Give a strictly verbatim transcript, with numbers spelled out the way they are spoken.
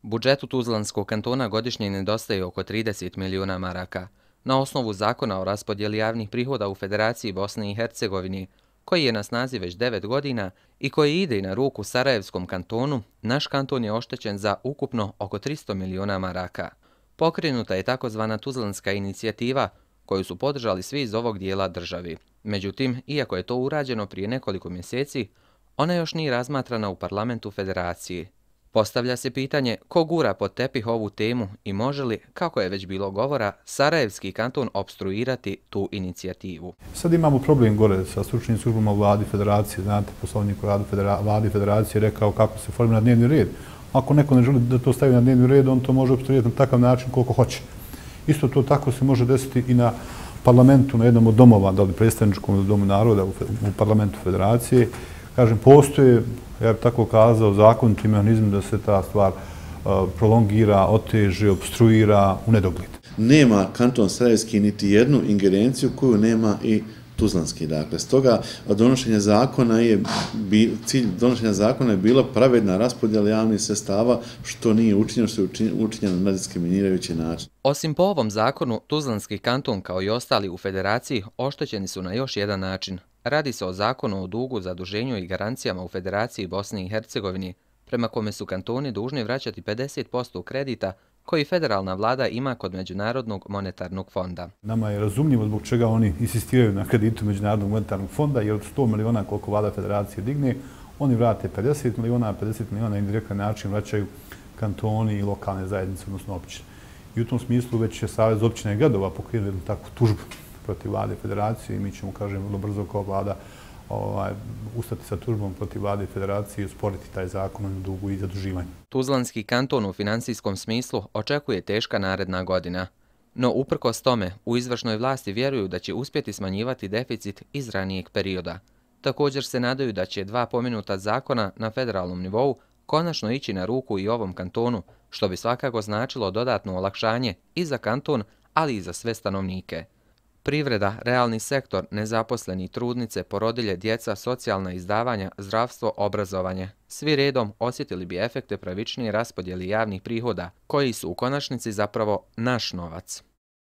Budžetu Tuzlanskog kantona godišnje nedostaje oko trideset milijuna maraka. Na osnovu zakona o raspodjeli javnih prihoda u Federaciji Bosne i Hercegovine, koji je na snazi već devet godina i koji ide na ruku Sarajevskom kantonu, naš kanton je oštećen za ukupno oko tristo milijuna maraka. Pokrenuta je takozvana Tuzlanska inicijativa, koju su podržali svi iz ovog dijela državi. Međutim, iako je to urađeno prije nekoliko mjeseci, ona još nije razmatrana u parlamentu Federacije. Postavlja se pitanje ko gura pod tepih ovu temu i može li, kako je već bilo govora, Sarajevski kanton opstruirati tu inicijativu. Sad imamo problem gore sa stručnim službama u vladi Federacije. Znate, poslovnik u radu federa, vladi Federacije rekao kako se formira dnevni red. Ako neko ne želi da to stavi na dnevni red, on to može opstruirati na takav način koliko hoće. Isto to tako se može desiti i na parlamentu, na jednom od domova, da li predstavničkom ili domu naroda u, u parlamentu Federacije. Kažem, postoje, ja bih tako kazao, zakoniti mehanizmi da se ta stvar uh, prolongira, oteže, obstruira u nedogled. Nema kanton Sarajevski niti jednu ingerenciju koju nema i Tuzlanski. Dakle, stoga donošenje zakona je, cilj donošenja zakona je bila pravedna raspodjela javnih sredstava, što nije učinjeno, što je učinjeno na diskriminirajući način. Osim po ovom zakonu, Tuzlanski kanton kao i ostali u Federaciji oštećeni su na još jedan način. Radi se o zakonu o dugu, zaduženju i garancijama u Federaciji Bosne i Hercegovine, prema kome su kantoni dužni vraćati pedeset posto kredita koji federalna vlada ima kod Međunarodnog monetarnog fonda. Nama je razumljivo zbog čega oni insistiraju na kreditu Međunarodnog monetarnog fonda, jer od sto miliona koliko vlada Federacije digne, oni vrate pedeset miliona, a pedeset miliona indirektan način vraćaju kantoni i lokalne zajednice, odnosno općine. I u tom smislu već je Savez općina i gradova pokrenuo jednu takvu tužbu protiv vlade Federacije i mi ćemo, kažem, vrlo brzo kao vlada ovaj, ustati sa tužbom protiv vlade Federacije i usporiti taj zakon o dugu i zaduživanju. Tuzlanski kanton u finansijskom smislu očekuje teška naredna godina. No, uprkos tome, u izvršnoj vlasti vjeruju da će uspjeti smanjivati deficit iz ranijeg perioda. Također se nadaju da će dva pomenuta zakona na federalnom nivou konačno ići na ruku i ovom kantonu, što bi svakako značilo dodatno olakšanje i za kanton, ali i za sve stanovnike. Privreda, realni sektor, nezaposleni, trudnice, porodilje, djeca, socijalna izdavanja, zdravstvo, obrazovanje. Svi redom osjetili bi efekte pravičnije raspodjeli javnih prihoda, koji su u konačnici zapravo naš novac.